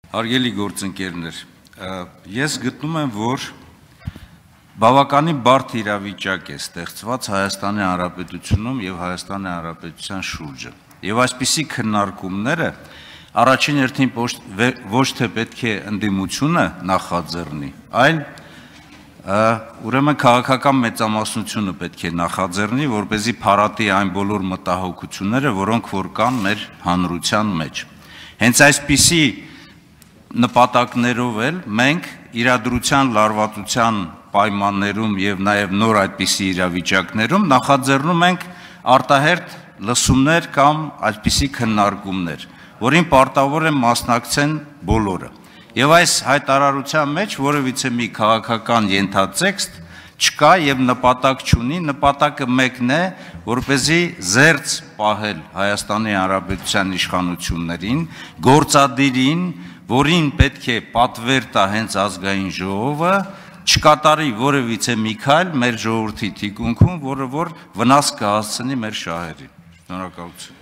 Հարգելի գործընկերներ, ես գտնում եմ, որ բավականին բարդ իրավիճակ է ստեղծված Հայաստանի Հանրապետությունում եւ Հայաստանի Հանրապետության շուրջը։ Եվ այսպիսի քննարկումները առաջին հերթին ոչ թե պետք է ընդդիմությունը նախաձեռնի, այլ ուրեմն քաղաքական մեծամասնությունը պետք է նախաձեռնի, որպեսզի փարատի այն բոլոր մտահոգությունները, որոնք որ կան մեր հանրության մեջ։ Հենց այսպիսի նպատակներով էլ մենք իրադրության լարվածության պայմաններում եւ նաեւ նոր այդպիսի իրավիճակներում նախաձեռնում ենք արտահերթ լսումներ կամ այդպիսի քննարկումներ, որին պարտավոր են մասնակցեն բոլորը։ Եվ այս հայտարարության մեջ որևիցե մի քաղաքական ենթատեքստ չկա եւ նպատակ չունի, նպատակը մեկն է, որպեսզի զերծ պահել Հայաստանի Հանրապետության իշխանություններին, գործադիրին, որին պետք է պատվեր տա հենց ազգային ժողովը, չկատարի որևիցե մի քայլ մեր ժողովրդի թիկունքում, որը որ վնաս կհասցնի մեր շահերին։ Շնորհակալություն։